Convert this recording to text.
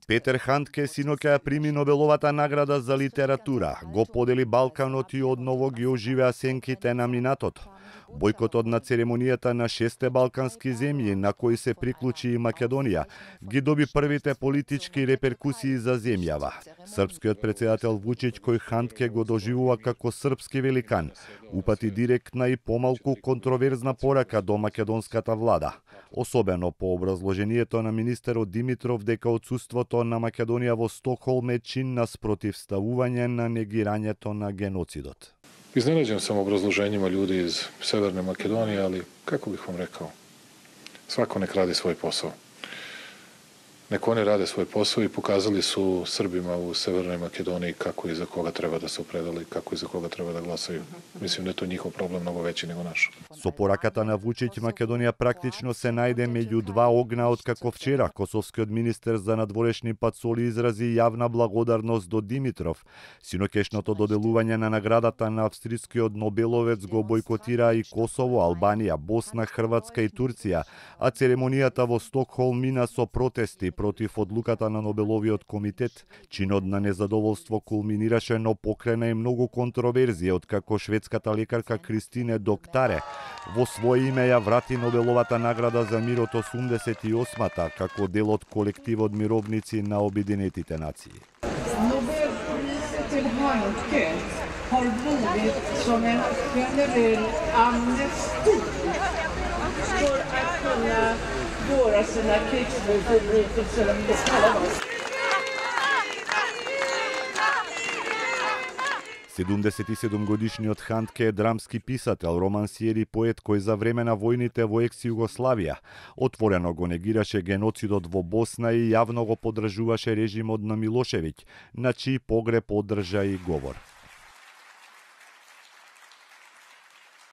Петер Хандке синоќа ја прими Нобеловата награда за литература. Го подели Балканот и одново ги оживеа сенките на минатото. Бојкотот на церемонијата на 6 балкански земји, на кои се приклучи и Македонија, ги доби првите политички реперкусии за земјава. Српскиот претседател Вучиќ, кој Хандке го доживува како српски великан, упати директна и помалку контроверзна порака до македонската влада, особено по образложението на министерот Димитров дека отсуството на Македонија во Стокхолм е чин на спротивставување на негирањето на геноцидот. Изненаđen sam obrazloženjima ljudi iz Severne Makedonije, ali kako bih vam rekao, svako nek radi svoj posao. Nek oni rade svoj posao i pokazali su Srbima u Severnoj Makedoniji kako i za koga treba da se opredele, kako i za koga treba da glasaju. Mislim da je to njihov problem mnogo veći nego naš. Со пораката на Вучиќ, Македонија практично се најде меѓу два огна откако вчера косовскиот министер за надворешни пацоли изрази јавна благодарност до Димитров. Синоќешното доделување на наградата на австрискиот нобеловец го бојкотира и Косово, Албанија, Босна, Хрватска и Турција, а церемонијата во Стокхолм мина со протести против одлуката на Нобеловиот комитет. Чинот на незадоволство кулминираше, но покрена и многу контроверзија, откако шведската лекарка Кристине Доктаре во своје име ја врати Нобеловата награда за мир од 88-та како дел од колективот мировници на Обединетите нации. Nobelpriset till Handke har blivit som en generell amnesti för att kunna våra sina krigsförbrytelser om det kallas. 77-годишниот Хандке е драмски писател, романсиер и поет кој за време на војните во екс-Југославија отворено го негираше геноцидот во Босна и јавно го поддржуваше режимот на Милошевиќ, на чиј погреб одржа и говор.